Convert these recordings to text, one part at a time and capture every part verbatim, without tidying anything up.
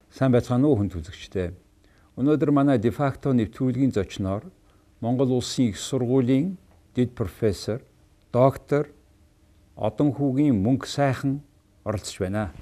Сайн байцгаана уу хүнд үзэгчдээ. Өнөөдөр манай дефакто нэвтрүүлгийн зочноор Монгол Улсын их сургуулийн дэд профессор, доктор Одон хүүгийн мөнгө сайхан оролцож байна.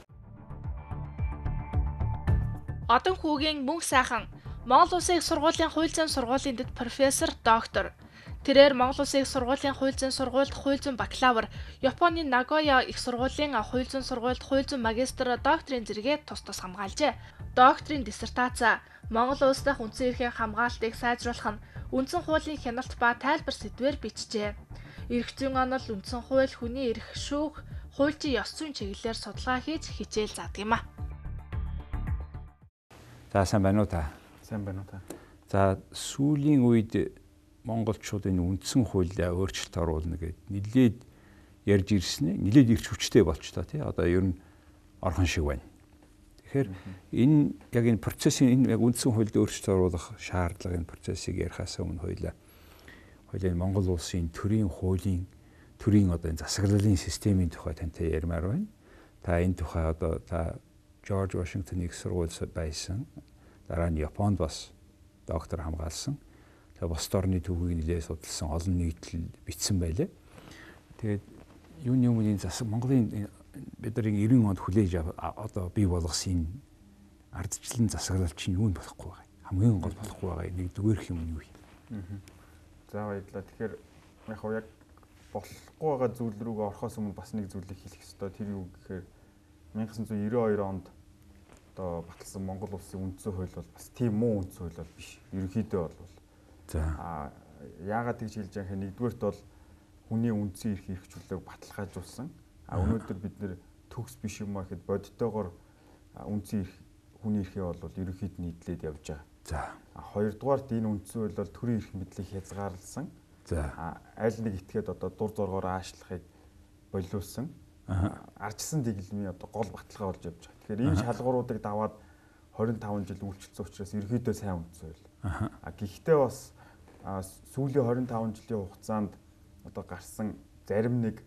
Одон хүүгийн мөнгө сайхан Монгол Улсын их сургуулийн хууль зүйн сургуулийн дэд профессор, доктор. Тэрээр Монгол Улсын их сургуулийн хууль зүйн сургуульд хууль зүйн бакалавр, Японы Нагоя их сургуулийн хууль зүйн сургуульд хууль зүйн магистр докторийн зэрэгээ тус тус хамгаалжээ. Докторийн диссертац Монгол улс дахь үндсэн эрхийн хамгаалтыг сайжруулах нь үндсэн хуулийн хяналт ба тайлбар сэдвээр бичжээ. Эрх зүйн онол, үндсэн хууль, хүний эрх, шүүх, хуульчийн ёс зүйн чиглэлээр судалгаа хийж хичээл заадаг юм а. За сайн байна уу та? Сайн байна уу та? За сүүлийн үед монголчуудын үндсэн хуулиа өөрчлөлт оруулна гэдэг нэлээд ярьж ирсэн нь нэлээд ирч хүчтэй болч та тий одоо ер нь орхон шиг байна. Тэгэхээр энэ яг энэ процессын энэ яг үндсэн хуульд өөрчлөлт оруулах шаардлагын процессыг ярихаас өмнө хоёлаа хоёлаа Монгол улсын төрийн хуулийн төрийн одоо энэ засаглалын системийн тухай тантай ярмаар байна. Та энэ тухай одоо та Жорж Вашингтоны их сургуульд байсан. Дараа нь Японд бас доктор хамгаалсан. Тэгээ бос орны төвийг нэлээд судалсан олон нийтлэл бичсэн байлээ. Тэгээд юуны өмнө энэ засаг Монголын бидний эрдэнэ онд хүлээж одоо бий болгосон ардчлалын засаглал чинь юу нь болохгүй байгаа. Хамгийн гол болохгүй байгаа нэг дүгээрх юм юу юм. За баярлалаа. Тэгэхээр яг хоо яг болохгүй байгаа зүйл рүүгээ орохоос өмнө бас нэг зүйлийг хэлэх ёстой. Тэр юу гэхээр 천ix девяносто хоёр онд одоо баталсан Монгол улсын үндсэн хууль бол бас тийм муу үндсэн хууль бол биш. Ерөнхийдөө бол за а яагаад тэгж хэлж байгаа юм нэгдүгээрт бол хүний үндсэн эрх эрхчлөлийг баталгаажуулсан. А өнөөдөр бид нэр төгс биш юм аа гэхэд бодитоогоор үндсэн эрх хүний эрхээ бол ерөнхийд нийтлээд явж байгаа. За а хоёрдугаарт энэ үндсэн хууль бол төрийн эрх мэдлийг хязгаарласан. За аль нэг этгээд одоо дур зоргоор аашлахыг болиулсан. Арчсан дэглэмийн одоо гол баталгаа болж явж байгаа. Тэгэхээр энэ шалгууруудыг даваад двадцать пять жил үйлчлсэн учраас ерөнхийдөө сайн үндсэн хууль. А гэхдээ бас сүүлийн двадцать пять жилийн хугацаанд одоо гарсан зарим нэг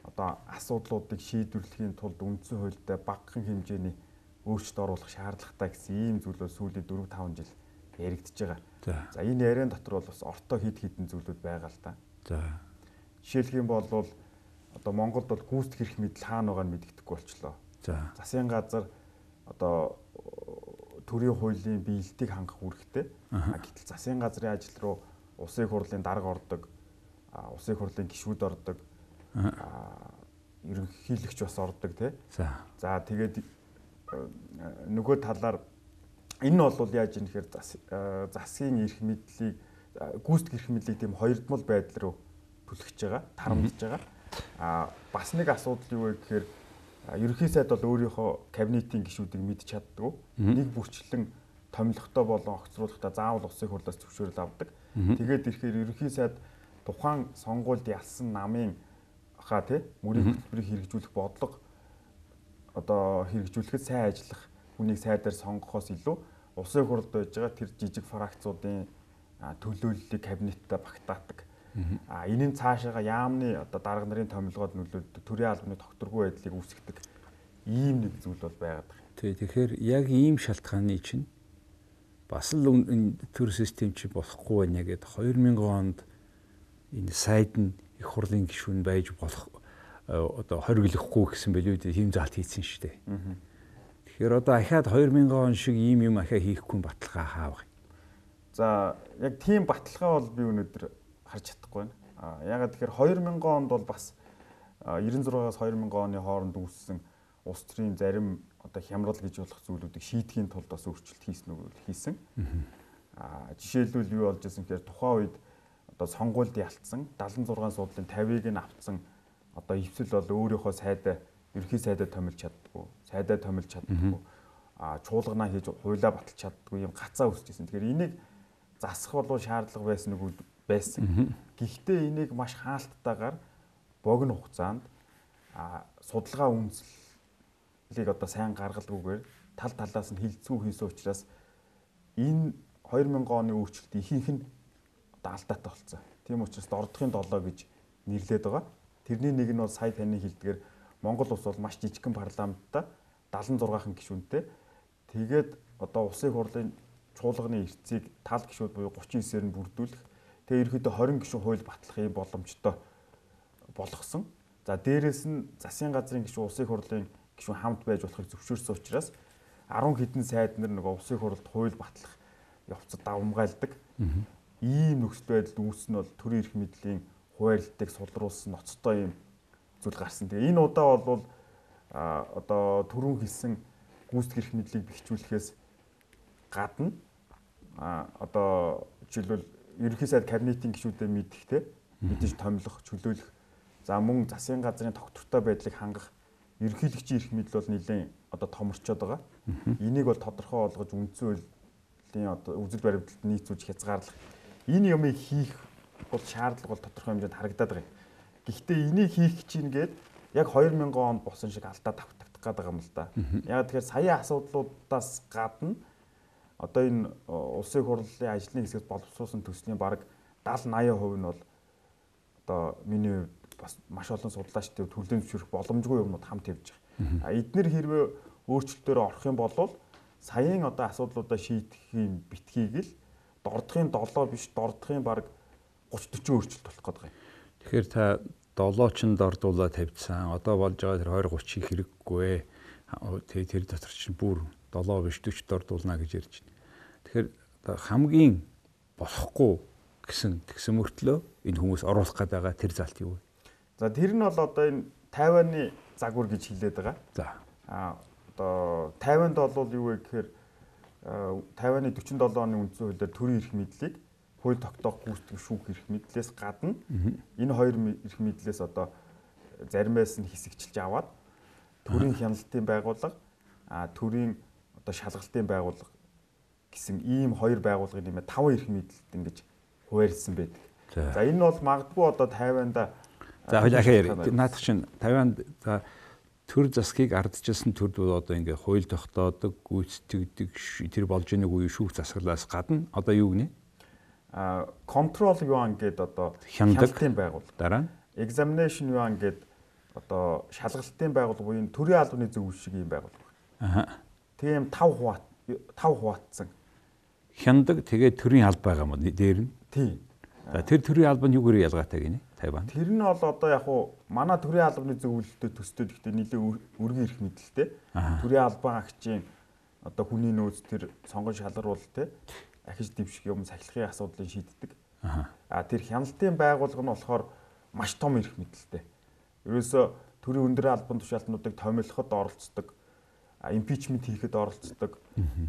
одоо асуудлуудыг шийдвэрлэхийн тулд үндсэн хуультай багахан хэмжээний өөрчлөлт оруулах шаардлагатай гэсэн ийм зүйлүүд сүүлийн дөрвөн таван жил яригдж байгаа. За энэ яриан дотор бол бас ортой хид хідэн зүйлүүд байгаа л та. За жишээлх юм бол одоо Монголд бол гүйцэтгэх эрх мэдэл хаана байгааг нь мэддэхгүй болчлоо. За засгийн газар одоо төрийн хуулийн биелэлтийг хангах үүрэгтэй. Гэтэл засгийн газрын ажил руу улсын хурлын дарга ордог, улсын хурлын гишүүд ордог, ерөнхийлөгч бас ордог тий. За за тэгээд нөгөө талаар энэ нь бол яаж юм нэхэр засгийн эрх мэдлийг гүйцэтгэх эрх мэдлийг тийм хоёрдмол байдал руу түлхэж байгаа, тарамдж байгаа. А бас нэг асуудал юу вэ гэхээр ерөнхий сайд бол өөрийнхөө кабинетийн гишүүдийг мэдж чаддгүй. Нэг бүрчлэн томилготой болон огцруулахдаа заавал улсын хурлаас зөвшөөрөл авдаг. Тэгээд ирэхээр ерөнхий сайд тухайн сонгуульд ялсан намын хаа тий мөрийн хөтөлбөрийг хэрэгжүүлэх бодлого одоо хэрэгжүүлэхэд сайн ажиллах хүнийг сайдаар сонгохоос илүү улсын хурлд байж байгаа тэр жижиг фракцуудын төлөөллийг кабинеттай багтаадаг. А энийн цаашаага яамны одоо дарга нарын томилгоод нөлөөлдөг төрийн албаны тогтворгүй байдлыг үүсгэдэг ийм нэг зүйл бол байгаад байна. Тий тэгэхээр яг ийм шалтгааны чинь бас л энэ төр систем чи болохгүй байна гэдэг две тысячи онд энэ сайд нь их хурлын гишүүн байж болох одоо хориглохгүй гэсэн билүү тийм заалт хийсэн шүү дээ. Тэгэхээр одоо ахаад две тысячи он шиг ийм юм ахаа хийхгүй баталгаа хаавах. За яг тийм баталгаа бол би өнөөдөр харж чадахгүй байна. А ягаад тэгэхээр две тысячи онд бол бас девяносто шестаас две тысячи оны хооронд үүссэн улс төрийн зарим одоо хямрал гэж болох зүйлүүдийг шийдэхийн тулд бас өөрчлөлт хийсэн үг хийсэн. А жишээлбэл юу болж ирсэн гэхээр тухайн үед одоо сонгуульд ялцсан seventy six суудлын fifty-ыг нь авцсан одоо эвсэл бол өөрийнхөө сайдаа ерхий сайдаа томилж чаддаггүй, сайдаа томилж чаддаггүй, а чуулганаа хийж хуйлаа баталж чаддаггүй юм гацаа үүсчихсэн. Тэгэхээр энийг засах болов шаардлага байсан үг байсан. Гэхдээ энийг маш хаалттайгаар богино хугацаанд а судалгаа үндэслэлийг одоо сайн гаргалгүйгээр тал талаас нь хилцүү хийсэн учраас энэ две тысячи оны өөрчлөлт ихэнх нь одоо алдаатай болсон. Тийм учраас дордохын долоо гэж нэрлэдэг байгаа. Тэрний нэг нь бол сая таны хэлдгээр Монгол улс бол маш жижигхэн парламенттай seventy six гишүүнтэй. Тэгээд одоо улсын хурлын чуулганы эрцийг тал гишүүд буюу гучин девять-ээр нь бүрдүүлэх. Тэгээд ерөөдөө двадцать гишүүн хууль батлахын боломжтой болгосон. За дээрэс нь засгийн газрын гишүүн улсын хурлын гишүүн хамт байж болохыг зөвшөөрсөн учраас арван хэдэн сайд нар нөгөө улсын хурлд хууль батлах явцад давмгайлдаг. Ийм нөхцөл байдал үүснэ бол төрийн эрх мэдлийн хуваарлтыг сулруулсан ноцтой юм зүйл гарсан. Тэгээ энэ удаа бол а одоо түрүүн хэлсэн гүйцэтгэх эрх мэдлийг бэхжүүлэхээс гадна а одоо жишээлбэл ерөнхий сайд кабинетийн гишүүдэд мэдхтэй мэдээж томилох, чөлөөлөх, за мөн засгийн газрын тогтвортой байдлыг хангах ерөнхийлөгчийн эрх мэдэл бол нэлээд одоо томорчод байгаа. Энийг бол тодорхой болгож үндсэн хуулийн одоо үзэл баримталд нийцүүлж хязгаарлах энэ юмыг хийх бол шаардлага бол тодорхой хэмжээнд харагдаад байгаа юм. Гэхдээ энийг хийх чинь гээд яг две тысячи онд босон шиг алдаа давтагдах гэдэг юм л да. Яг тэгэхээр саяын асуудлуудаас гадна одоо энэ улсын хурлын ажлын хэсгээс боловсруулсан төслийн бараг дагаад eighty percent нь бол одоо миний бас маш олон судлаачдын төлөвлөмж зөвшөөрөх боломжгүй юмнууд хамт явж байгаа. А эдгээр хэрвээ өөрчлөлтөөр орох юм бол саяын одоо асуудлуудаа шийдэхийн битгийг л дордохын seven биш дордохын бараг thirty forty өөрчлөлт болох гэдэг юм. Тэгэхээр та долоочнд дордуулаад тавьдсан. Одоо болж байгаа тэр twenty thirty-ийг хэрэггүй. Тэгээ тэр дотор чинь бүр seven биш forty дордуулна гэж ярьж байна. Тэгэхээр хамгийн болохгүй гэсэн тэгсэн мөртлөө энэ хүмүүс оруулах гээд байгаа тэр залт юу вэ? За тэр нь бол одоо энэ Тайваны загвар гэж хэлээд байгаа. За. А одоо Тайванд бол юу вэ гэхээр Тайваны forty-seven оны үндсэн хуулиар төрийн эрх мэдлийг хууль тогтоох гүйцэтгэх шүүх эрх мэдлээс гадна энэ хоёр эрх мэдлээс одоо заримаас нь хэсэгчилж аваад төрийн хяналтын байгууллага а төрийн одоо шалгалтын байгууллага гэсэн ийм хоёр байгууллагын нэмээд five эрх мэдлэлд ингэж хуваарлсан байдаг. За энэ бол магадгүй одоо Тайванда за хоёлаа наадах чинь Тайванд за төр засгийг ардчилсан төрд бол одоо ингээ хууль тогтоодог, гүйцэтгэдэг тэр болж байгааг үе шүүх засаглаас гадна одоо юу гинэ? А control yuan гэдэг одоо хяналтын байгууллага. Дараа нь examination yuan гэдэг одоо шалгалтын байгууллага буюу төрийн албаны зөв шиг юм байгууллага. Аа. Тийм five хуваат five хуваатсан. Хяндаг тэгээд төрийн алба байгаа юм дээр нь. Тийм. За тэр төрийн алба нь юугаар ялгаатай гинэ? Тайван. Тэр нь бол одоо яг уу манай төрийн албаны зөвлөлтөд төстэй гэхдээ нийлээ өргөн эрх мэдэлтэй. Төрийн албан агчийн одоо хүний нөөц тэр сонгон шалгаруул те ахиж дэвших юм сахилгын асуудлыг шийддэг. А тэр хяналтын байгууллага нь болохоор маш том эрх мэдэлтэй. Ерөөсө төрийн өндөр албан тушаалтнуудыг томилоход оролцдог, импичмент хийхэд оролцдог.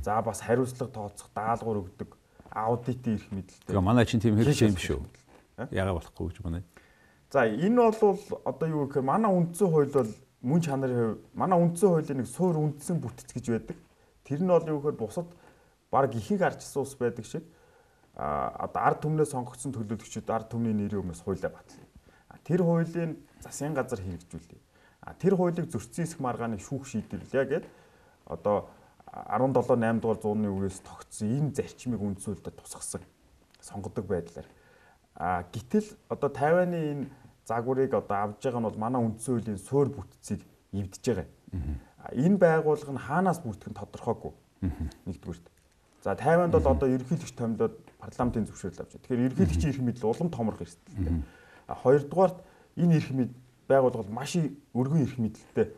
За бас хариуцлага тооцох, даалгавар өгдөг, аудитын эрх мэдэлтэй. Тэгээ манай чинь тийм хэрэгжиж юм шүү. Яагаад болохгүй гэж байна. За энэ бол одоо юу гэхээр манай үндсэн хууль бол мөн чанарын хувь манай үндсэн хуулийн нэг суур үндсэн бүтц гэж байдаг. Тэр нь бол юу гэхээр бусад баг ихийг арчсан ус байдаг шиг а одоо ард түмнээ сонгогдсон төлөөлөгчид ард түмний нэрийн өмнөөс хуулиа батлана. Тэр хуулийн засгийн газар хэрэгжүүлдэг. А тэр хуулийг зөрчсөн хэсэг маргааны шүүх шийдвэрлэе гэд одоо seventeen eight дугаар зууны үеэс тогтсон энэ зарчмыг үндсэн хуульд тусгасан сонгодог байдлаар. А гэтэл одоо Тайваны энэ загварыг одоо авж байгаа нь бол манай үндсэн хуулийн суур бүтцийг эвдэж байгаа. Энэ байгууллага нь хаанаас бүрдэх нь тодорхойгүй. Нэгдүгürt. За Тайванд бол одоо ерөнхийлөгч томилоод парламентын зөвшөөрөл авч байгаа. Тэгэхээр ерөнхийлөгчийн эрх мэдэл улам томрох эрсдэлтэй. А хоёрдугаарт энэ эрх мэдэл байгууллага маш өргөн эрх мэдэлтэй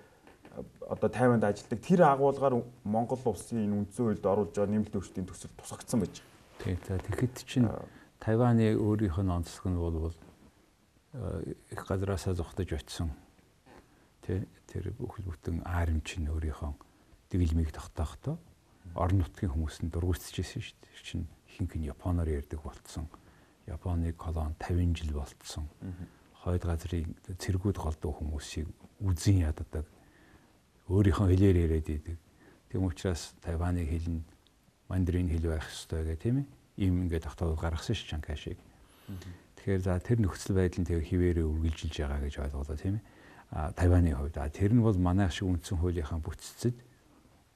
одоо Тайванд ажилладаг. Тэр агуулгаар Монгол улсын энэ үндсэн хуульд оруулж байгаа нэмэлт өөрчлөлтийн төсөл тусгагдсан байж байгаа. Тийм. За тэгэхэд чинь Тайваны өөрийнх нь онцлог нь бол их газраасаа зогтож очсон. Тэ тэр бүхэл бүтэн ааримч нь өөрийнхөө дэглэмийг тогтоохдоо орон нутгийн хүмүүст нь дургуутсажсэн шүү дээ. Чин ихэнх нь Японоор ярьдаг болцсон. Японы колон fifty жил болцсон. Хойд газрын цэргүүд голдуу хүмүүсийг үзэн яддаг. Өөрийнхөө хэлээр яриад идэг. Тийм учраас Тайваны хэл нь мандрин хэл байх ёстой гэх тийм ээ. Ийм ингээд тогтоол гаргасан ш Чанкашиг. Тэгэхээр за тэр нөхцөл байдал нь тэгээ хിവэрээ үргэлжилж байгаа гэж ойлголоо тийм ээ. А Тайваны хувьд а тэр нь бол манайх шиг үндсэн хуулийнхаа бүтцэд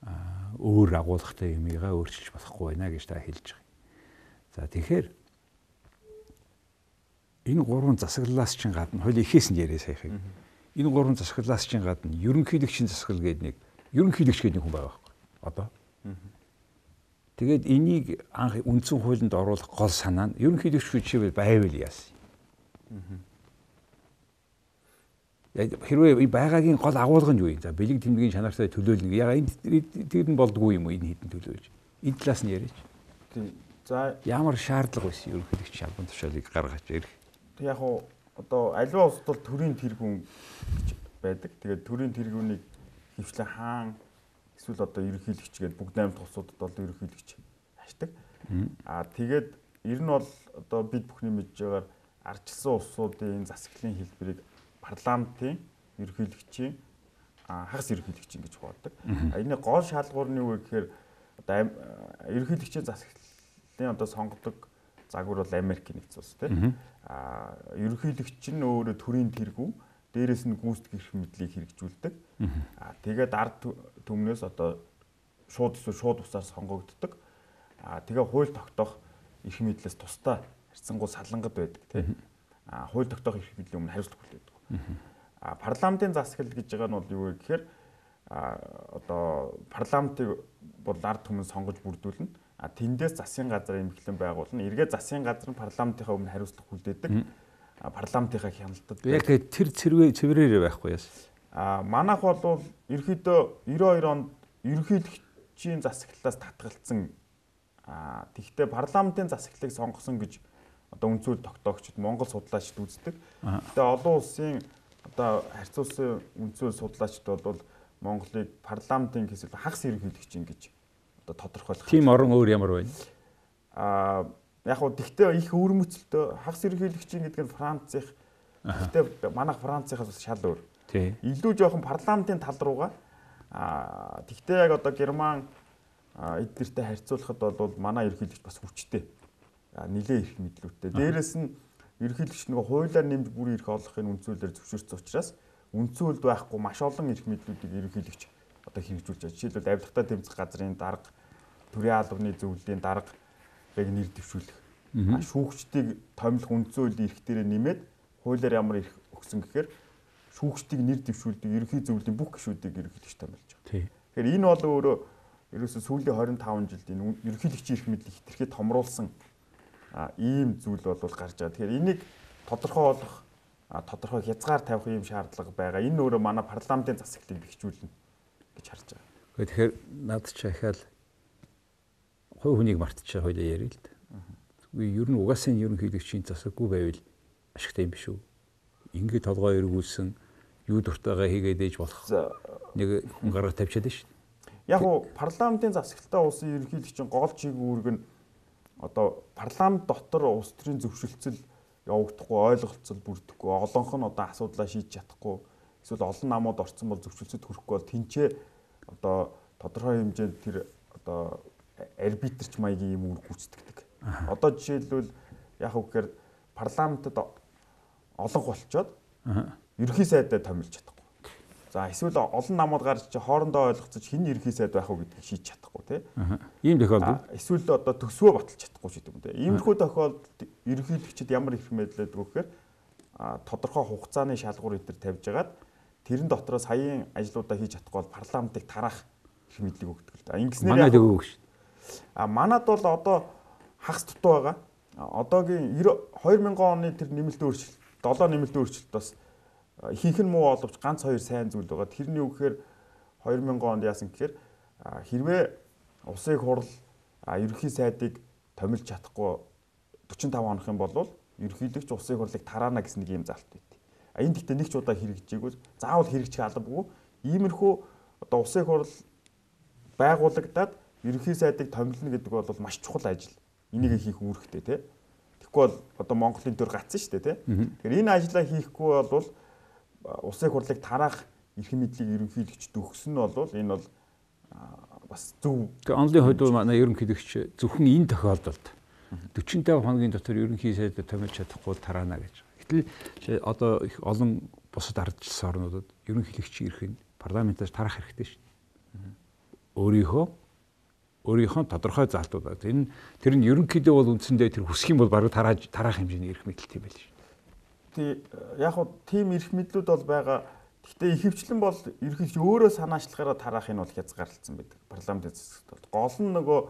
а өөр агуулгатай юмыгаа өөрчилж болохгүй байна гэж та хэлж байгаа. За тэгэхээр энэ гурван засаглалаас чинь гадна хууль ихээс нь яриа саяхыг. Энэ гурван засаглалаас чинь гадна ерөнхийлөгчийн засаглал гэдэг нэг ерөнхийлөгч гэдэг нэг хүн байгаа байхгүй. Одоо Тэгээд энийг анх үндсэн хуулинд оруулах гол санаа нь ерөнхийлөгч хүчээр байвал яасан. Яг хэрвээ байгаагийн гол агуулга нь юу юм? За бэлэг тэмдгийн чанартай төлөөлнө. Яг энэ тэр нь болдгүй юм уу энэ хэдэн төлөөлж? Энэ талаас нь яриач. За ямар шаардлага байсан ерөнхийлөгч албан тушаалыг гаргаж ирэх. Тэг яг уу одоо аливаа улсад бол төрийн тэргүүн гэж байдаг. Тэгээд төрийн тэргүүнийг хөвчлэн хаан эсвэл одоо ерөнхийлөгч гэдэг бүгд найрамд улсуудад бол ерөнхийлөгч ашдаг. Аа тэгээд ер нь бол одоо бид бүхний мэдж байгаагаар ардчилсан улсуудын засаглалын хэлбэрийг парламентын ерөнхийлөгчийн хагас ерөнхийлөгчийн гэж хувадаг. Энэ гол шалгуур нь юу вэ гэхээр одоо ерөнхийлөгчийн засаглалын одоо сонгодог загвар бол Америкийн нэгдсэн улс тийм. Аа ерөнхийлөгч нь өөрөө төрийн тэргүүн, дээрээс нь гүйцэтгэх эрх мэдлийг хэрэгжүүлдэг. Аа тэгээд ард түмнээс одоо шууд эсвэл шууд усаар сонгогддог. Аа тэгээ хууль тогтоох эрх мэдлээс тусдаа харьцангуй салангад байдаг тийм. Аа хууль тогтоох эрх мэдлийн өмнө хариуцлага хүлээдэг. Аа парламентын засаглал гэж байгаа нь бол юу вэ гэхээр аа одоо парламентыг бол ард түмэн сонгож бүрдүүлнэ. А тэндээс засгийн газар эмхлэн байгуулна. Эргээ засгийн газар нь парламентынхаа өмнө хариуцлага хүлээдэг. А парламентынхаа хяналтад. Яг тэр цэврээ цэврээрээ байхгүй яасан. А манайх бол ерөөдөө девяносто хоёр онд ерөнхийлөгчийн засаглалаас татгалцсан. А тэгвэл парламентын засаглалыг сонгосон гэж одоо үндсүүл тогтоогчид Монгол судлаачид үздэг. Гэтэ олон улсын одоо харьцуулсан үндсүүл судлаачид бол Монголыг парламентын хэсэг хагас ерөнхийлөгчийн гэж тодорхойлох. Тийм орон өөр ямар байна? Аа яг уу тэгтээ их өөрмөцөлтөө хагас ерөнхийлөгчийн гэдэг нь Францих. Тэгтээ манайх Францихаас бас шал өөр. Тий. Илүү жоохон парламентын тал руугаа аа тэгтээ яг одоо Герман эднэртэй харьцуулахад бол манай ерөнхийлөгч бас хүчтэй. Нилээ их мэдлүүтэй. Дээрээс нь ерөнхийлөгч нөгөө хуулиар нэмж бүр ирэх олохын үндсүүлээр зөвшөөрсөн учраас үндсүүлд байхгүй маш олон эрх мэдлүүдийг ерөнхийлөгч одоо хэрэгжүүлж байгаа. Жишээлбэл авилгатай тэмцэх газрын дарга, төрийн албаны зөвлөлийн дарга яг нэр дэвшүүлэх. Шүүгчдийг томилох үндсэн хуулийн эрх дээрээ нэмээд хуулиар ямар эрх өгсөн гэхээр шүүгчдийг нэр дэвшүүлдэг ерөнхий зөвлөлийн бүх гишүүдийг ерөнхийлөгч томилж байгаа. Тэгэхээр энэ бол өөрөө ерөөсөө сүүлийн двадцать пять жилд энэ ерөнхийлөгчийн эрх мэдлийг хэтэрхий томруулсан ийм зүйл бол гарч байгаа. Тэгэхээр энийг тодорхой болгох, тодорхой хязгаар тавих ийм шаардлага байгаа. Энэ өөрөө манай парламентын засаглалыг бэхжүүлнэ гэж харж байгаа. Тэгэхээр над ч ахаал хувь хүнийг мартчихаа хоёлаа ярил л да. Ер нь угаасаа ерөнхийлөгчийн засаггүй байвал ашигтай юм биш үү? Ингээд толгой эргүүлсэн юу дуртайгаа хийгээд ээж болох нэг хүн гараа тавьчаад байна шүү дээ. Яг уу парламентын засаглалтай улсын ерөнхийлөгчийн гол чиг үүрэг нь одоо парламент дотор улс төрийн зөвшөлтсөл явагдахгүй, ойлголцол бүрдэхгүй, олонх нь одоо асуудлаа шийдэж чадахгүй, эсвэл олон намууд орцсон бол зөвшөлтсөд хүрэхгүй бол тэнцээ одоо тодорхой хэмжээнд тэр одоо арбитрч маягийн юм үүрэг гүйцэтгэдэг. Одоо жишээлбэл яг үгээр парламентод олон болчоод ерөнхий сайдаа томилж чадахгүй. За эсвэл олон намууд гарч чи хоорондоо ойлгоцож хин ерөнхий сайд байх уу гэдгийг шийдэж чадахгүй тий. Ийм тохиолдолд эсвэл одоо төсвөө баталж чадахгүй ч гэдэг юм тий. Иймэрхүү тохиолдолд ерөнхийлөгчд ямар их мэдлээд өгөхээр тодорхой хугацааны шалгуур өдр тавьж агаад тэрэн дотроо саяын ажлуудаа хийж чадахгүй бол парламентыг тараах их мэдлэг өгдөг л да. Ингэснээр манайд өгөөг шүү. А манад бол одоо хагас дутуу байгаа. Одоогийн две тысячи оны тэр нэмэлт өөрчлөлт, долоо нэмэлт өөрчлөлт бас ихэнх нь муу боловч ганц хоёр сайн зүйл байгаа. Тэрний үг гэхээр две тысячи онд яасан гэхээр хэрвээ улсын хурал ерөнхий сайдыг томилж чадахгүй forty-five хоног юм бол ерөнхийлөгч улсын хурлыг тараана гэсэн нэг юм залт байт. А энэ гэхдээ нэг ч удаа хэрэгжээгүй. Заавал хэрэгжих албагүй. Иймэрхүү одоо улсын хурал байгуулагдаад ерөнхий сайдыг томилно гэдэг бол маш чухал ажил. Энийг хийх үүрэгтэй тий. Тэгэхгүй бол одоо Монголын төр гацсан шүү дээ тий. Тэгэхээр энэ ажлаа хийхгүй бол улсын хурлыг тараах эрх мэдлийг ерөнхийлөгчд өгсөн нь бол энэ бол бас зөв. Тэгээ онлын хувьд манай ерөнхийлөгч зөвхөн энэ тохиолдолд forty-five хоногийн дотор ерөнхий сайдад томилж чадахгүй тараана гэж. Гэтэл одоо их олон бусад ардчилсан орнуудад ерөнхийлөгчийн эрх нь парламентаас тарах хэрэгтэй шүү дээ. Өөрийнхөө өөрийнхөө тодорхой залтууд байна. Энэ тэр нь ерөнхийдөө бол үндсэндээ тэр хүсэх юм бол баруун тарааж тараах хэмжээний эрх мэдэлт юм байл шүү. Тий яг хуу тийм эрх мэдлүүд бол байгаа. Гэхдээ ихэвчлэн бол ерөнхийдөө өөрөө санаачлахаараа тараах нь бол хязгаарлалцсан байдаг. Парламентын засагт бол гол нь нөгөө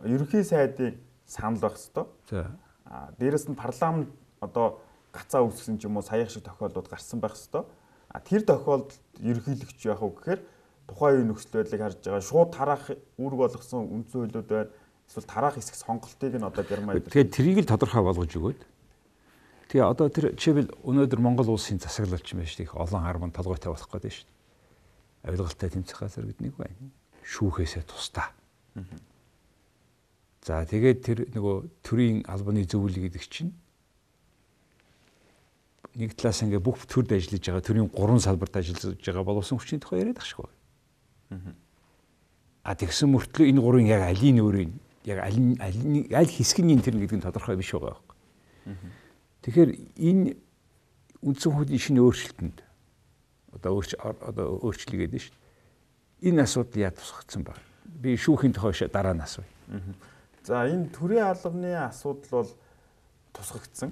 ерөнхий сайдын санал байх ёстой. За. А дээрэс нь парламент одоо гацаа үүсгэсэн ч юм уу саяхан шиг тохиолдлууд гарсан байх ёстой. А тэр тохиолдолд ерөнхийлөгч яах вэ гэхээр тухайн үеийн нөхцөл байдлыг харж байгаа шууд тараах үүрэг болгосон үндсэн хуулиуд байна. Эсвэл тараах хэсэг сонголтыг нь одоо Герман тэгээд трийг л тодорхой болгож өгөөд. Тэгээ одоо тэр жишээл өнөөдөр Монгол улсын засаглалч юм байна шүү дээ. Их олон харман толгойтой болох гэдэг шүү дээ. Авилгалтай тэмцэх газар гэдэг нэг байна. Шүүхээсээ тусдаа. За тэгээд тэр нөгөө төрийн албаны зөвлөл гэдэг чинь нэг талаас ингээ бүх төрд ажиллаж байгаа төрийн гурван салбарт ажиллаж байгаа боловсон хүчний тухай яриад ах шиг байна. А тэгсэн мөртлөө энэ гурвын яг алийн өөрийн яг аль аль хэсгийн тэр гэдэг нь тодорхой биш байгаа байхгүй. Тэгэхээр энэ үндсэн хуулийн шинэ өөрчлөлтөнд одоо өөрч одоо өөрчлөлт гэдэг нь шүү дээ. Энэ асуудал яа тусгагдсан баг. Би шүүхийн тухай дараа нь асууя. За энэ төрийн албаны асуудал бол тусгагдсан.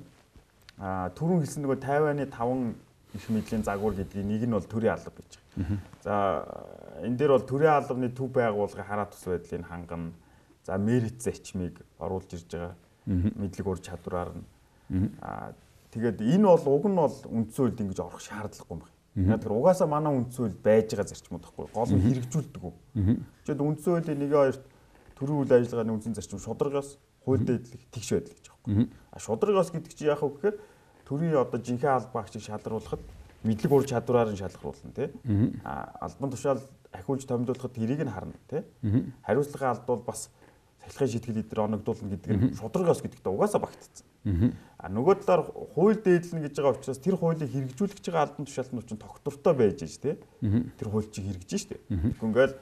А түрүүн хэлсэн нөгөө Тайваны таван их мэдлийн загвар гэдгийг нэг нь бол төрийн алба гэж байгаа. За энэ дээр бол төрийн албаны төв байгууллагын хараа тус байдлыг хангана. За мерит зарчмыг оруулж ирж байгаа. Мэдлэг ур чадвараар нь. Аа тэгээд энэ бол уг нь бол үндсэн хуульд ингэж орох шаардлагагүй юм байна. Яг тэр угаасаа манай үндсэн хуульд байж байгаа зарчмууд байхгүй. Гол нь хэрэгжүүлдэг үү. Жишээд үндсэн хуулийн нэг хоёрт төрийн үйл ажиллагааны үндсэн зарчим шударгаас хууль дэдлэг тэгш байдаг гэж байна. А шударгаас гэдэг чинь яах вэ гэхээр төрийн одоо жинхэнэ албаагчийг шалгаруулахад мэдлэг ур чадвараар нь шалгаруулна тий. А албан тушаал ахиулж томилуулахад тэрийг нь харна тий. Хариуцлагын алд бол бас салхины шийтгэл эдгээр оногдуулна гэдэг нь шударгаас гэдэгт угаасаа багтцсан. А нөгөө талаар хууль дээдлэн гэж байгаа учраас тэр хуулийг хэрэгжүүлэх гэж байгаа албан тушаалтнууд чинь тогтвортой байж ш тий. Тэр хууль чинь хэрэгжиж штэ. Ингээл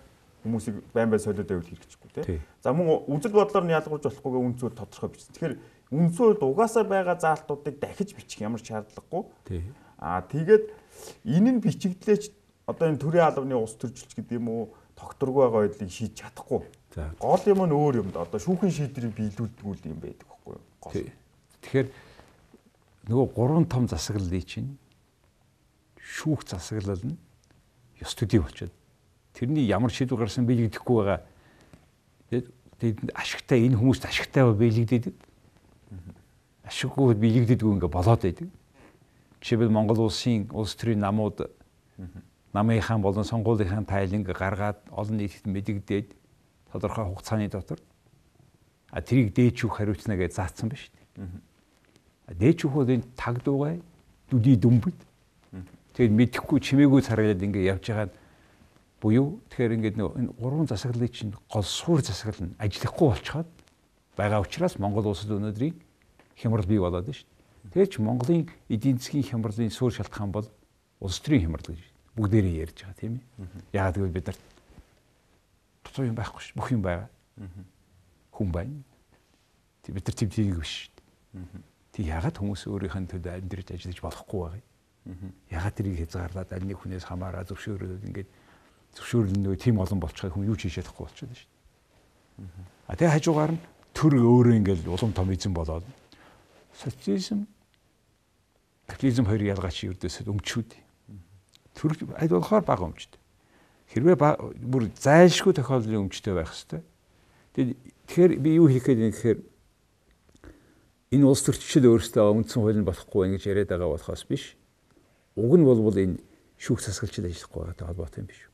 хүмүүсийг байн байн солиод байвал хэрэгжихгүй тий. За мөн үзэл бодлоор нь ялгуулж болохгүйгээ үндсэн хууль тодорхой бичсэн. Тэгэхээр үндсэн хуульд угаасаа байгаа заалтуудыг дахиж бичих ямар шаардлагагүй. Тий. А тэгээд энэ нь бичигдлээч одоо энэ төрийн албаны ус төржилч гэдэг юм уу тогтворгүй байгаа байдлыг шийдэж чадахгүй. Гол юм нь өөр юм да. Одоо шүүхийн шийдвэрийг биелүүлдэг юм байдаг байхгүй юу? Гол. Тэгэхээр нөгөө гурван том засаглалын чинь шүүх засаглал нь ёс төдий болчиход тэрний ямар шийдвэр гарсан биелэгдэхгүй байгаа. Тэгээд ашигтай энэ хүмүүст ашигтай биелэгдэдэг. Ашиггүй биелэгдэдгүй ингээ болоод байдаг. Жишээлбэл Монгол улсын улс төрийн намууд намынхаа болон сонгуулийнхаа тайланг гаргаад олон нийтэд мэдэгдээд тодорхой хугацааны дотор а тэрийг дээчүүх хариуцна гэж заасан ба шүү дээ. А дээчүүх бол энэ таг дуугай дүдий дүмбэд. Тэгээд мэдэхгүй чимээгүй царайлаад ингээ явж байгаа буюу тэгэхээр ингээд энэ гурван засаглалын чинь гол суур засаглал нь ажиллахгүй болчиход байгаа учраас Монгол улсад өнөөдрийн хямрал бий болоод байна шүү дээ. Тэгэхээр ч Монголын эдийн засгийн хямралын суур шалтгаан бол улс төрийн хямрал гэж бүгдээрээ ярьж байгаа тийм ээ. Яагаад гэвэл бид нар тусуу юм байхгүй шүү. Бүх юм байгаа. Хүн байна. Тэг бид нар тийм тийм биш шүү дээ. Тэг яагаад хүмүүс өөрийнх нь төлөө амьдрэж ажиллаж болохгүй байгаа юм. Яагаад тэрийг хязгаарлаад аль нэг хүнээс хамаараа зөвшөөрөөд ингээд зөвшөөрөл нөгөө тийм олон болчихыг хүн юу ч хийж чадахгүй болчиход шүү дээ. А тэг хажуугаар нь төр өөрөө ингээд улам том эзэн болоод социализм капитализм хоёр ялгаач ердөөсөө өмчүүд. Төр аль болохоор бага өмчтэй. Хэрвээ бүр зайлшгүй тохиолдлын өмчтэй байх хэвээр. Тэгэхээр би юу хэлэх гээд юм гэхээр энэ улс төрчид өөрсдөө үндсэн хууль нь болохгүй байх гэж яриад байгаа болохоос биш. Уг нь бол энэ шүүх засаглалчид ажиллахгүй байгаатай холбоотой юм биш.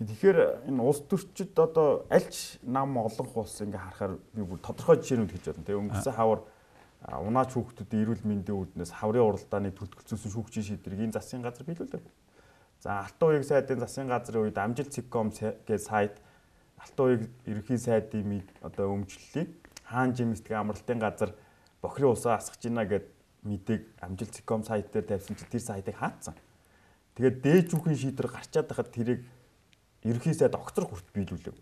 Тэгэхээр энэ улс төрчид одоо альч нам олонх улс ингээ харахаар би бүр тодорхой жишээнүүд хэлж байна. Тэгээ өнгөрсөн хавар унаач хүүхдүүдийн эрүүл мэндийн үүднээс хаврын уралдааны төлтөлцүүлсэн шүүгчийн шийдвэрийг энэ засгийн газар биелүүлдэг. За Алтан уян сайдын засгийн газрын үед амжилт цэгком гэж сайд Алтан уян ерөнхий сайдын одоо өмчлөлийн хаан жимсдгийн амралтын газар бохирын усаа асгаж байна гэд мэдээг амжилт цэгком сайт дээр тавьсан чинь тэр сайтыг хаацсан. Тэгээд дээж түүхийн шийдвэр гарчаад байхад тэрийг ерөнхий сайд огцор хүрт биелүүлэв.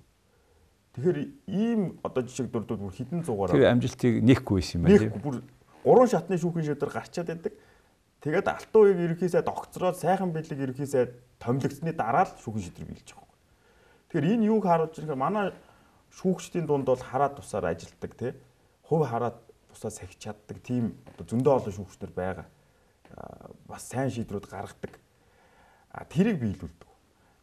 Тэгэхээр ийм одоо жишээ дурдууд бүр хэдэн зугаараа тэр амжилтыг нэхгүй байсан юм байна. Нэхгүй бүр гурван шатны шүүхийн шийдвэр гарчаад байдаг. Тэгээд Алтан уян ерөнхий сайд огцроод сайхан бэлэг ерөнхий сайд томилогдсны дараа л шүүхийн шийдвэр биелж байгаа. Тэгэхээр энэ юуг харуулж байгаа юм манай шүүгчдийн дунд бол хараад тусаар ажилтдаг тий. Хувь хараад тусаа сахиж чаддаг тийм одоо зөндөө олон шүүгчнэр байгаа. Бас сайн шийдвэрүүд гаргадаг. А тэрийг биелүүлдэг.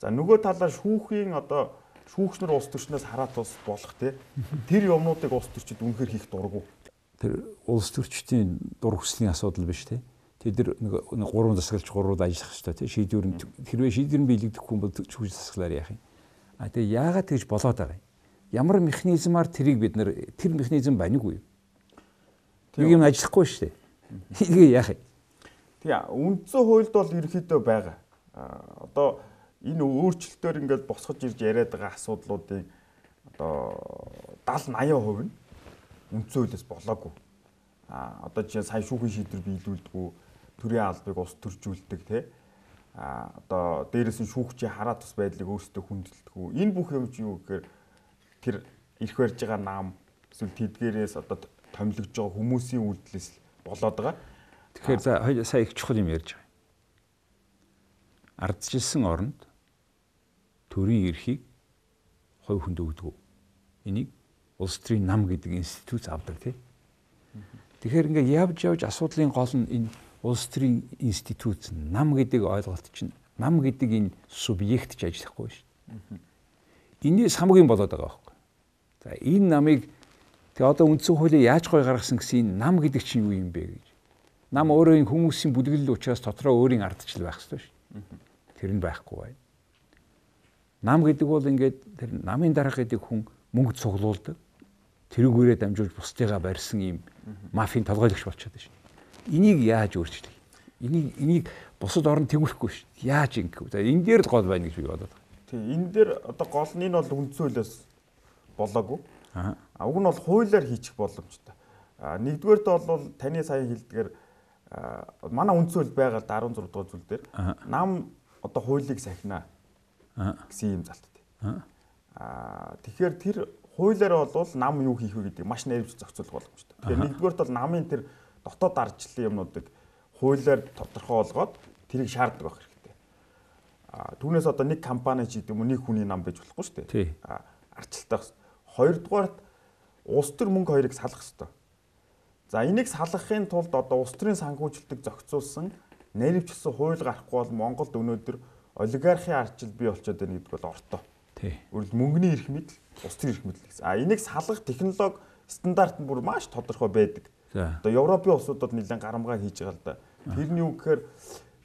За нөгөө талаар шүүхийн одоо шүүгчнэр улс төрчнөөс хараад бас болох те. Тэр юмнуудыг улс төрчид үнэхээр хийх дурггүй. Тэр улс төрчдийн дур хүслийн асуудал биш те. Тэд нэг гурван засаглалч гурвууд ажиллах хэрэгтэй те. Шийдвэр нь хэрвээ шийдвэр нь биелэгдэхгүй бол шүүгч засаглаар яах юм. А тэгээ яагаад тэгж болоод байгаа юм? Ямар механизмаар тэрийг бид нэр тэр механизм байна уу? Нэг юм ажиллахгүй шүү дээ. Энийг яах юм? Тэгээ үндсэн хуульд бол ерөөхдөө байгаа. А одоо энэ өөрчлөлтөөр ингээд босгож ирж яриад байгаа асуудлуудын одоо даал наяа хувь нь үндсэн хуулиас болоогүй. А одоо жишээ сайн шүүхийн шийдвэр биелүүлдэггүй, төрийн албыг ус төржүүлдэг тий. А одоо дээрээс нь шүүгчийн хараа тус байдлыг өөрсдөө хүндэлдэггүй. Энэ бүх юм чи юу гэхээр тэр ирэх барьж байгаа нам эсвэл тэдгээрээс одоо томилогдож байгаа хүмүүсийн үйлдэлээс болоод байгаа. Тэгэхээр за сая их чухал юм ярьж байгаа. Ардчилсан оронд төрийн эрхийг хувь хүнд өгдөг. Энийг улс төрийн нам гэдэг институт авдаг тий. Тэгэхээр ингээд явж явж асуудлын гол нь энэ улс төрийн институт нам гэдэг ойлголт чинь нам гэдэг энэ субъект ч ажиллахгүй шүү дээ. Энээс хамгийн болоод байгаа байхгүй. За энэ намыг тэгээ одоо үндсэн хуулийг яаж гой гаргасан гэсэн энэ нам гэдэг чинь юу юм бэ гэж. Нам өөрөө энэ хүмүүсийн бүлэглэл учраас дотроо өөрийн ардчил байх хэрэгтэй шүү дээ. Тэр нь байхгүй байна. Нам гэдэг бол ингээд тэр намын дарга гэдэг хүн мөнгө цуглуулдаг. Тэрүүгээрээ дамжуулж бусдыгаа барьсан ийм мафийн толгойлогч болчиход байна шүү. Энийг яаж өөрчлөх? Энийг энийг бусад орнд тэгүүлэхгүй шүү. Яаж ингэв? За энэ дээр л гол байна гэж би бодоод байна. Тийм энэ дээр одоо гол нь энэ бол үндсэн хуулиас болоогүй. Аа. Уг нь бол хуулиар хийчих боломжтой. Аа нэгдүгээрт бол таны сая хэлдгээр манай үндсэн хууль байгаа л арван зураг дугаар зүйл дээр нам одоо хуулийг сахина гэсэн юм залттай. Аа тэгэхээр тэр хуулиар бол нам юу хийх вэ гэдэг маш найрвч зохицуулах боломжтой. Тэгэхээр нэгдүгээрт бол намын тэр дотоод ардчлалын юмнуудыг хуулиар тодорхой болгоод тэрийг шаарддаг байх хэрэгтэй. Аа түүнээс одоо нэг компани ч гэдэг юм уу нэг хүний нам байж болохгүй шүү дээ. Аа ардчлалтай. Хоёрдугаарт улс төр мөнгө хоёрыг салах хэрэгтэй. За энийг салгахын тулд одоо улс төрийн санхүүжилтийг зохицуулсан найрвчилсан хууль гарахгүй бол Монголд өнөөдөр олигархийн ардчил бий болчиход байна гэдэг бол ортой. Тий. Өөрөлд мөнгөний эрх мэдэл, улс төрийн эрх мэдэл гэсэн. А энийг салгах технологи стандарт нь бүр маш тодорхой байдаг. Одоо Европын улсуудад нэлээд гарамгаа хийж байгаа л да. Тэр нь юу гэхээр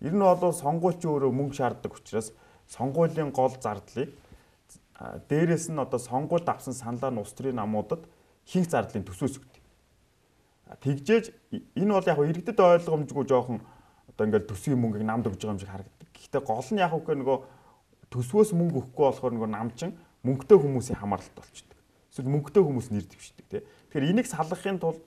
ер нь бол сонгуульч өөрөө мөнгө шаарддаг учраас сонгуулийн гол зардлыг дээрээс нь одоо сонгуульд авсан саналаа нь улс төрийн намуудад хинх зардлын төсөөс өгдөг. Тэгжээж энэ бол яг иргэдэд ойлгомжгүй жоохон одоо ингээл төсвийн мөнгийг намд өгж байгаа юм шиг харагддаг. Гэхдээ гол нь яг үгүй нөгөө төсвөөс мөнгө өгөхгүй болохоор нөгөө намчин мөнгөтэй хүмүүсийн хамааралтай болчихдог. Эсвэл мөнгөтэй хүмүүс нэр дэвшдэг тий. Тэгэхээр энийг салгахын тулд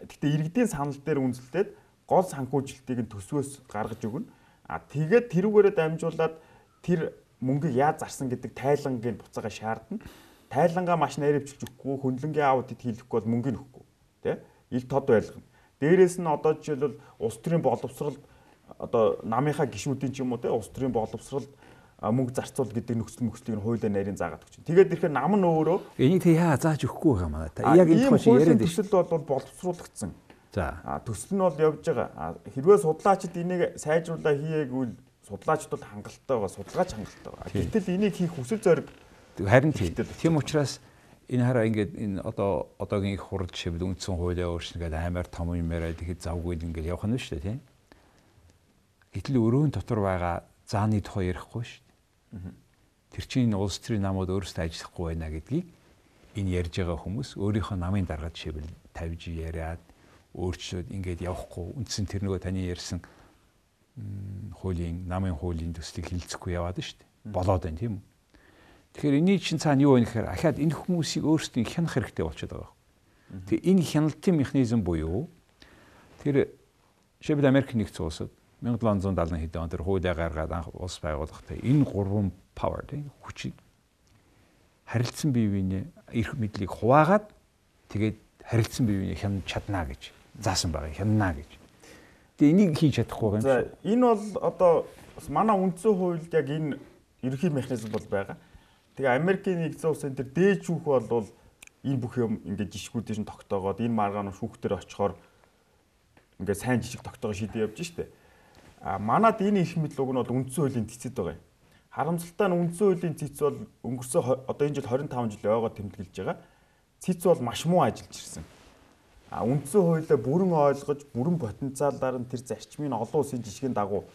гэхдээ иргэдийн санал дээр үндэслээд гол санхүүжилтийг нь төсвөөс гаргаж өгнө. А тэгээд тэрүүгээрээ дамжуулаад тэр мөнгийг яаж зарсан гэдэг тайлангийн буцаага шаардна. Тайлангаа маш найрвчилж өгөхгүй, хөндлөнгийн аудит хийхгүй бол мөнгөний өгөхгүй тий. Ил тод байлгана. Дээрээс нь одоо жишээлбэл улс төрийн боловсрол одоо намынхаа гишүүдийн ч юм уу те улс төрийн боловсрол мөнгө зарцуул гэдэг нөхцөл мөхцөлийг нь хуулиар нарийн заагаад өгч. Тэгээд ирэхээр нам нь өөрөө энийг тэг яа зааж өгөхгүй байгаа маа. Яг энэ тохиолдол яриад байна. Төсөл бол боловсруулагдсан. За. А төсөл нь бол явж байгаа. Хэрвээ судлаачид энийг сайжруулаа хийгээгүй судлаачд бол хангалттай байгаа, судалгаач хангалттай байгаа. Гэтэл энийг хийх хүсэл зориг харин тийм учраас энэ хараа ингээд энэ одоо одоогийн их хурд жишээлбэл үндсэн хуулиа өөрчнө гэдэг аймаар том юм яриад ихэд завгүй ингээд явах нь шүү дээ тийм. Гэтэл өрөөнд дотор байгаа зааны тухай ярихгүй шүү дээ. Тэр чинь улс төрийн намууд өөрсдөө ажиллахгүй байна гэдгийг энэ ярьж байгаа хүмүүс өөрийнхөө намын дарга жишээлбэл тавьж яриад өөрчлөөд ингээд явахгүй үндсэн тэр нөгөө таны ярьсан хуулийн намын хуулийн төслийг хилцэхгүй яваад шүү дээ. Болоод байна тийм үү? Тэгэхээр энэний чинь цаана юу вэ гэхээр ахаад энэ хүмүүсийг өөрсдөө хянах хэрэгтэй болчиход байгаа. Тэгээ энэ хяналтын механизм буюу тэр жишээлбэл Америк нэгдсэн улсад мянга долоон зуун даалгын хэдэн он тэр хуулиа гаргаад анх улс байгуулахдаа энэ гурван power тийм хүчийг харилцсан бие биенээ эрх мэдлийг хуваагаад тэгээд харилцсан бие биенээ хянаж чадна гэж заасан байгаа хянана гэж. Тэгээ энийг хийж чадахгүй юм. За энэ бол одоо манай үндсэн хуульд яг энэ ерөнхий механизм бол байгаа. Тэгээ Америкийн нэгдсэн улсын тэр дээд шүүх бол энэ бүх юм ингээд жишгүүдийн тогтоогоод энэ маргаан шүүхтэр очихоор ингээд сайн жижиг тогтоогоо шийдээ явж штэ. А манад энэ их мэдлэг нь бол үндсэн хуулийн цэцэд байгаа юм. Харамсалтай нь үндсэн хуулийн цэц бол өнгөрсөн одоо энэ жил двадцать и пять жил ойгоо тэмдэглэж байгаа. Цэц бол маш муу ажиллаж ирсэн. А үндсэн хуулиа бүрэн ойлгож, бүрэн потенциалаар нь тэр зарчмын олон улсын жишгийн дагуу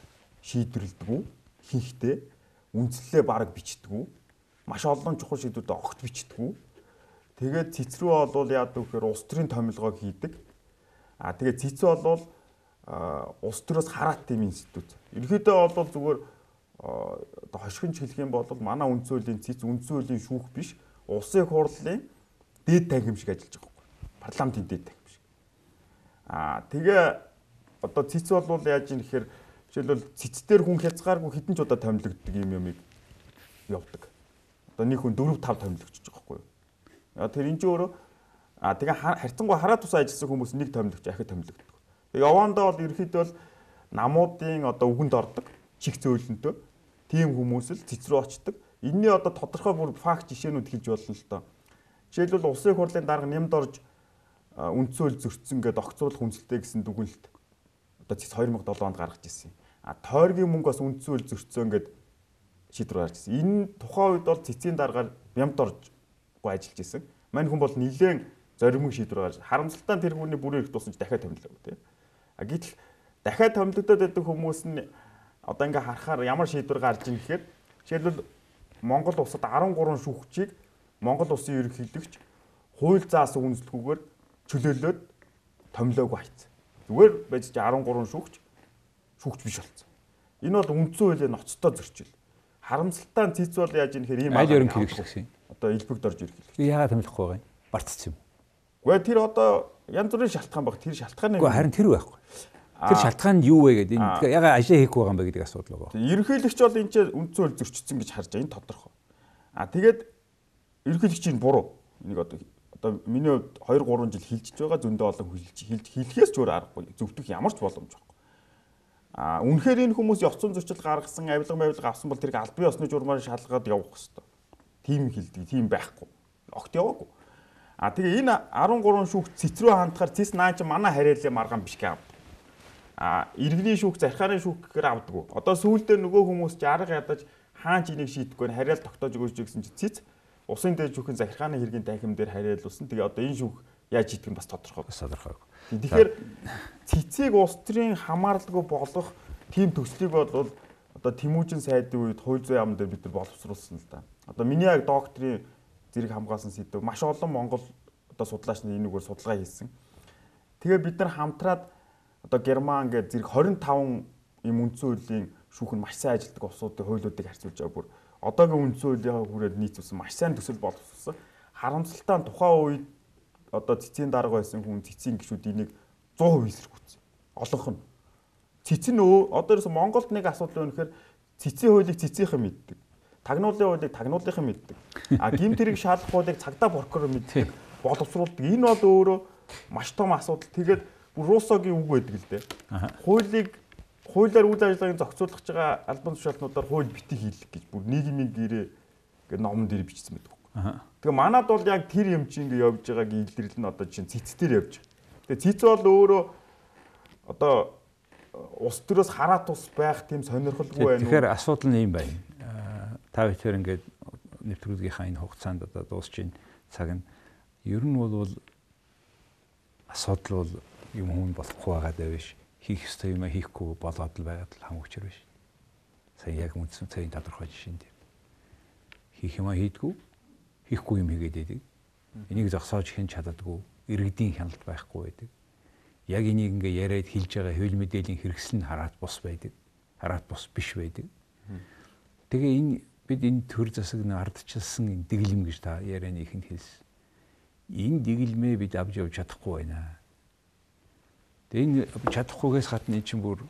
шийдвэрлэдэг, хийхдээ үндслэлээ бараг бичдэг. Маш олон чухал шийдвэрүүд огт бичдэг. Тэгээд цэц рүү бол яадаг вэхээр улс төрийн томилгоог хийдэг. А тэгээд цэц бол улс төрөөс хараат тийм институт. Ерөнхийдөө бол зүгээр одоо хошигнч хэлэх юм бол манай үндсэн хуулийн цэц үндсэн хуулийн шүүх биш, улсын хурлын дээд танхим шиг ажиллаж байгаа байхгүй. Парламентын дээд танхим шиг. Аа тэгээ одоо цэц бол яаж юм гэхээр жишээлбэл цэцээр хүн хязгааргүй хэдэн ч удаа томилогддог юм юмыг явуулдаг. Одоо нэг хүн дөрөв тав томилогдож байгаа байхгүй юу. Аа тэр энэ ч өөрөө аа тэгээ харьцангуй хараа тусаа ажилласан хүмүүс нэг томилогч ахид томилогддог. Тэгээ явандаа бол ерөөхдөө бол намуудын одоо үгэнд ордог чих зөөлөнтөө тийм хүмүүс л цэц рүү очдог. Энийний одоо тодорхой бүр факт жишээнүүд хэлж болно л доо. Жишээлбэл улсын хурлын дарга нэмд орж үндсэн хууль зөрчсөн гэдэг огцруулах хүнсэлтэй гэсэн дүгнэлт одоо цэц две тысячи седем онд гаргаж ирсэн. А тойргийн мөнгө бас үндсэн хууль зөрчсөн гэдэг шийдвэр гаргаж ирсэн. Энэ тухайн үед бол цэцийн даргаар нэмд оржгүй ажиллаж ирсэн. Мань хүн бол нэлээд зоримог шийдвэр гаргаж харамсалтай тэр хүний бүрийн их туссан ч дахиад томилоо тийм. А гэтэл дахиад томилогдоод байдаг хүмүүс нь одоо ингээ харахаар ямар шийдвэр гарч ийн гэхээр жишээлбэл Монгол улсад десять три шүүгчийг Монгол улсын ерөнхийлөгч хууль заасан үнэлэлгүйгээр чөлөөлөөд томилоогүй хайцсан. Зүгээр байж десять три шүүгч шүүгч биш болсон. Энэ бол үндсэн хуулийн ноцтой зөрчил. Харамсалтай нь цэц бол яаж юм гэхээр ийм аль ерөнхийлөгч гэсэн. Одоо элбэгд орж ерөнхийлөгч. Яагаад томилохгүй байгаа юм? Бартцсан юм. Гэхдээ тэр одоо янз бүрийн шалтгаан баг. Тэр шалтгааны Гэхдээ харин тэр байхгүй. Тэр шалтгаан нь юу вэ гэдэг энэ яга ажил хийхгүй байгаа юм бэ гэдэг асуудал байгаа. Ерөнхийлөгч бол энэ ч үндсэн хууль зөрчсөн гэж харж байгаа. Энэ тодорхой. А тэгээд ерөнхийлөгчийн буруу. Энийг одоо одоо миний хувьд two three жил хилжиж байгаа зөндөө олон хилж хилж хэлхээс ч өөр аргагүй. Зөвтөх ямар ч боломж байхгүй. А үнэхээр энэ хүмүүс ёцсон зөрчил гаргасан, авилга мавилга авсан бол тэрийг аль бие осны журмаар шалгаад явах хэрэгтэй. Тим хилдэг, тим байхгүй. Огт яваагүй. А тэгээ энэ десять три шүүгч цэц рүү хандахаар цэц наа чи манай хариалын маргаан биш гээ. А иргэний шүүх, зархааны шүүх гэхээр авдаггүй. Одоо сүүлдээ нөгөө хүмүүс чи арга ядаж хаан ч энийг шийдэхгүй хариал тогтоож өгөөч гэсэн чи цэц усын дээр шүүхэн захиргааны хэргийн танхим дээр хариалуулсан. Тэгээ одоо энэ шүүх яаж шийдэх нь бас тодорхой. Бас тодорхой. Тэгэхээр цэцийг улс төрийн хамааралгүй болгох тийм төслийг бол одоо Тэмүүжин сайдын үед хууль зүйн яам дээр бид нар боловсруулсан л да. Одоо миний яг докторийн зэрэг хамгаалсан сэдв маш олон Монгол одоо судлаач нар энэгээр судалгаа хийсэн. Тэгээ бид нар хамтраад одоо Герман гэдэг зэрэг двадцать five юм үндсэн хуулийн шүүх нь маш сайн ажилладаг улсуудын хуулиудыг харьцуулж байгаа бүр одоогийн үндсэн хуулийнхаа хүрээд нийцүүлсэн маш сайн төсөл боловсруулсан. Харамсалтай нь тухайн үед одоо цэцийн дарга байсан хүн цэцийн гишүүд энийг one hundred percent эсэргүүцсэн. Олонх нь. Цэц нь одоо ерөөс Монголд нэг асуудал өнөхөр цэцийн хуулийг цэцийнхэн мэддэг. Тагнуулын хуулийг тагнуулынхан мэддэг. А гэмт хэрэг шаардах хуулийг цагдаа прокурор мэддэг. Боловсруулдаг. Энэ бол өөрөө маш том асуудал. Тэгээд Руссогийн үг байдаг л дээ. Хуулийг хуулиар үйл ажиллагааг зохицуулах байгаа албан тушаалтнуудаар хууль битгий хийлгэх гэж бүр нийгмийн гэрээ гэдэг номон дээр бичсэн байдаг. Тэгээ манад бол яг тэр юм чи ингэ явж байгааг илэрлэл нь одоо чинь цэц дээр явж. Тэгээ цэц бол өөрөө одоо улс төрөөс хараа тус байх тийм сонирхолгүй байна. Тэгэхээр асуудал нь юм байна. Та бүхэн ингээд нэвтрүүлгийнхаа энэ хугацаанд одоо дуусч ин цаг нь ер нь бол асуудал бол юм хүн болохгүй байгаа даа биш. Хийх ёстой юм хийхгүй болоод л байгаад л хам хүчээр биш. Сайн яг үндсэн цагийн тодорхой жишээ нь. Хийх юм хийдгүү, хийхгүй юм хийгээд байдаг. Энийг зогсоож хэн чаддаггүй, иргэдийн хяналт байхгүй байдаг. Яг энийг ингээ яриад хэлж байгаа хууль мэдээллийн хэрэгсэл нь хараат бус байдаг. Хараат бус биш байдаг. Тэгээ энэ бид энэ төр засаг нь ардчилсан энэ дэглэм гэж та ярианы ихэнд хэлсэн. Энэ дэглэмээ бид авч явж чадахгүй байна. Тэгээ энэ чадахгүйгээс гадна энэ чинь бүр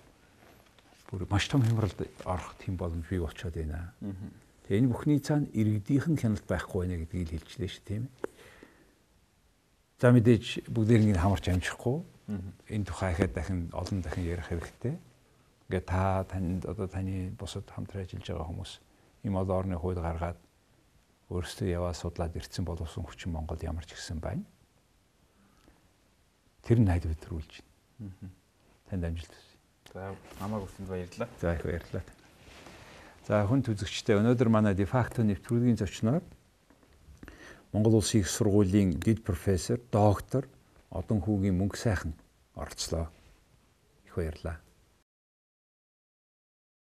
бүр маш том хямралд орох тийм боломж бий болчиход байна. Тэгээ энэ бүхний цаана иргэдийнхэн хяналт байхгүй байна гэдгийг л хэлчихлээ шүү тийм ээ. За мэдээж бүгдээр ингэ хамарч амжихгүй. Энэ тухай ихэд дахин олон дахин ярих хэрэгтэй. Ингээ та танд одоо таны бусад хамтран ажиллаж байгаа хүмүүс ийм олон орны хууль гаргаад өөрсдөө яваа судлаад ирсэн боловсон хүчин Монголд ямар ч ирсэн байна. Тэр нь найд өдрүүлж байна. Танд амжилт хүсье. За намайг өрсөнд баярлалаа. За их баярлалаа. За хүн үзэгчтэй өнөөдөр манай дефакто нэвтрүүлгийн зочноор Монгол Улсын их сургуулийн дэд профессор, доктор Одон хүүгийн мөнгө сайхан оролцлоо. Их баярлалаа.